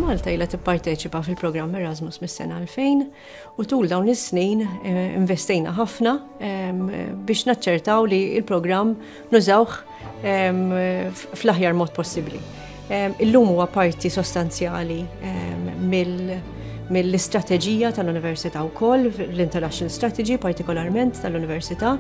Malta ilha tipparteċipa fil-programm Erasmus mis-sena 2000 u tul dawn is-snin eh, investejna ħafna ehm, biex naċċertaw li il-programm nużawh ehm, fl-aħjar mod possibbli. Ehm, illum huwa parti sostanzjali mill mill-istrateġija tal-Università wkoll, l-International Strategy partikolarment tal-Università,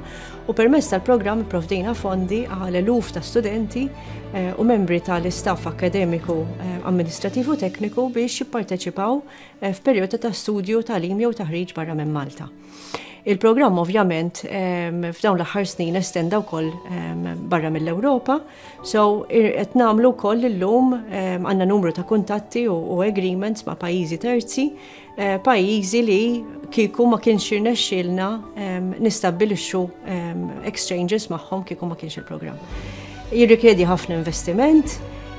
u permezz tal-programm provdejna fondi għal eluf ta' studenti eh, u membri tal-istaff akkademiku, eh, amministrativ u tekniku biex jipparteċipaw eh, f'perjodu ta' studju, tagħlim jew taħriġ barra minn Malta. Il-programm ovvjament ehm, f'dawn l-aħħar snin estenda wkoll ehm, barra mill-Ewropa, so qed nagħmlu wkoll illum ehm, għandna numru ta' kuntatti u agreements ma' pajjiżi terzi Eh, pajjiżi li kieku ma kienx irnexxielna ehm, nistabbilixxu ehm, exchanges magħhom kieku ma kienx il-programm. Jirrikjedi ħafna investiment,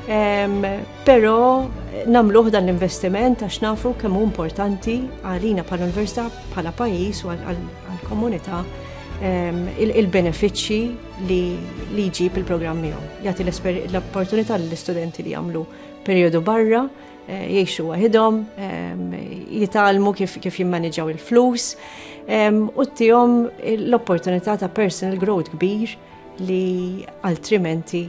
ehm, però namluħ dan l-investiment għax nafu kemm hu importanti għalina bħala università, bħala pajjiż u għall-komunità il-benefiċċji li jġib il-programm miegħu. Jagħti l-opportunità lill-istudenti li jagħmlu perjodu barra Eh, jgħixu waħidhom, jitgħallmu kif, kif jimmaniġaw il-flus u ttihom l-opportunità ta' personal growth kbir li altrimenti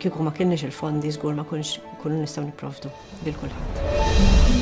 kieku ma kienx il-fondi żgur ma kunx kunu nistgħu nipprovdu lil kulħadd.